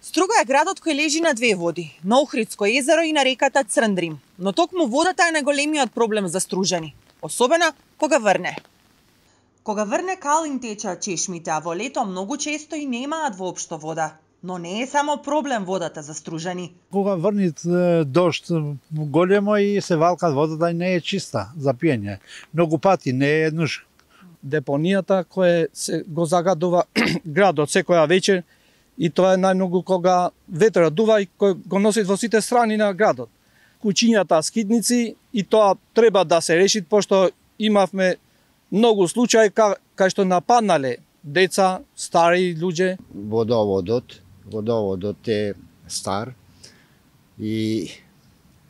Струга е градот кој лежи на две води, на Охридско езеро и на реката Црндрим. Но токму водата е најголемиот проблем за Стружани, особено кога врне. Кога врне калин течат чешмите, а во лето многу често и немаат воопшто вода. Но не е само проблем водата за Стружани. Кога врнит дожд големо и се валкат водата и не е чиста за пиење. Многу пати не е еднаш. Депонијата која го загадува градот секоја вечер и тоа е најмногу кога ветерот дува и кој го носи во сите страни на градот. Куќињата скидници и тоа треба да се реши, пошто имавме многу случаи кај што нападнале деца, стари луѓе. Водоводот е стар и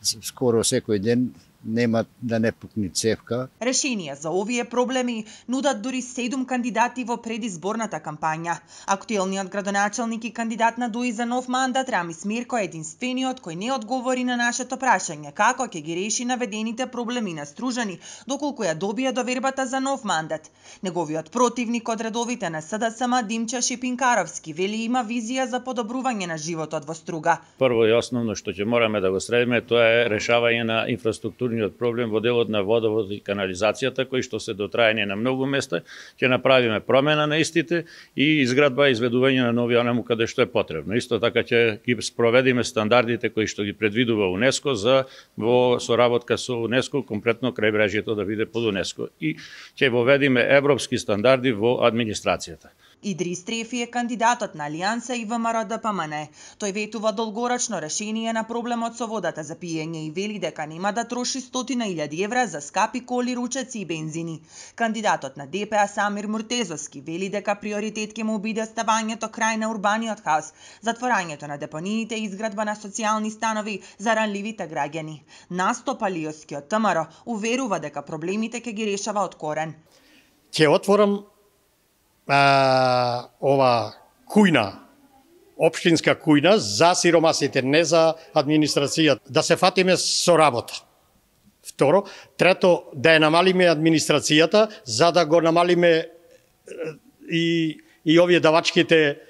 скоро секој ден нема да не пукне цевка. Решение за овие проблеми нудат дури 7 кандидати во предизборната кампања. Актуелниот градоначелник и кандидат на ДУИ за нов мандат Рамис Мирко е единствениот кој не одговори на нашето прашање како ќе ги реши наведените проблеми на Стружани доколку ја добие довербата за нов мандат. Неговиот противник од редовите на СДСМ Димча Шипинкаровски вели има визија за подобрување на животот во Струга. Прво и основно што ќе мораме да го средиме тоа е решавање на инфраструктурниот проблем во делот на водовод и канализацијата, кој што се дотрајање на многу места, ќе направиме промена на истите и изградба и изведување на нови онаму каде што е потребно. Исто така ќе ги спроведиме стандардите кои што ги предвидува УНЕСКО за во соработка со УНЕСКО, комплетно крајбрежјето да биде под УНЕСКО и ќе воведиме европски стандарди во администрацијата. Идрис Трефи е кандидатот на Алијанса и ВМРО-ДПМН. Тој ветува долгорочно решение на проблемот со водата за пиење и вели дека нема да троши 100.000 евра за скапи коли, ручеци и бензини. Кандидатот на ДПА Самир Муртезовски вели дека приоритет ќе му биде ставањето крај на урбаниот хаос, затворањето на депониите и изградба на социјални станови за ранливите граѓани. Насто Палиовски од ВМРО уверува дека проблемите ќе ги решава од корен. Ќе отворам ова кујна, општинска кујна за сиромасите, не за администрацијата, да се фатиме со работа. Второ, трето, да ја намалиме администрацијата, за да го намалиме и овие давачките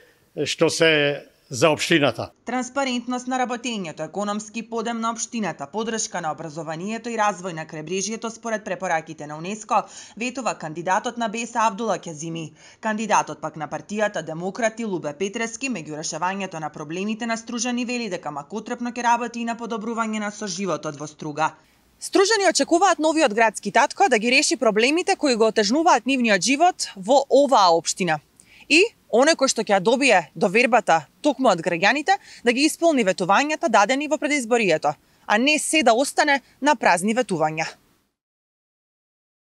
што се за општината. Транспарентност на работењето, економски подем на општината, подршка на образованието и развој на крајбрежјето според препораките на УНЕСКО, ветува кандидатот на БЕС Абдула Ќазими. Кандидатот пак на партијата Демократи Лубе Петрески меѓу решавањето на проблемите на Стружани вели дека макотрепно ќе работи и на подобрување на соживотот во Струга. Стружани очекуваат новиот градски татко да ги реши проблемите кои го отежнуваат нивниот живот во оваа општина. И оној кој што ќе добие довербата токму од граѓаните да ги исполни ветувањата дадени во предизборието, а не се да остане на празни ветувања.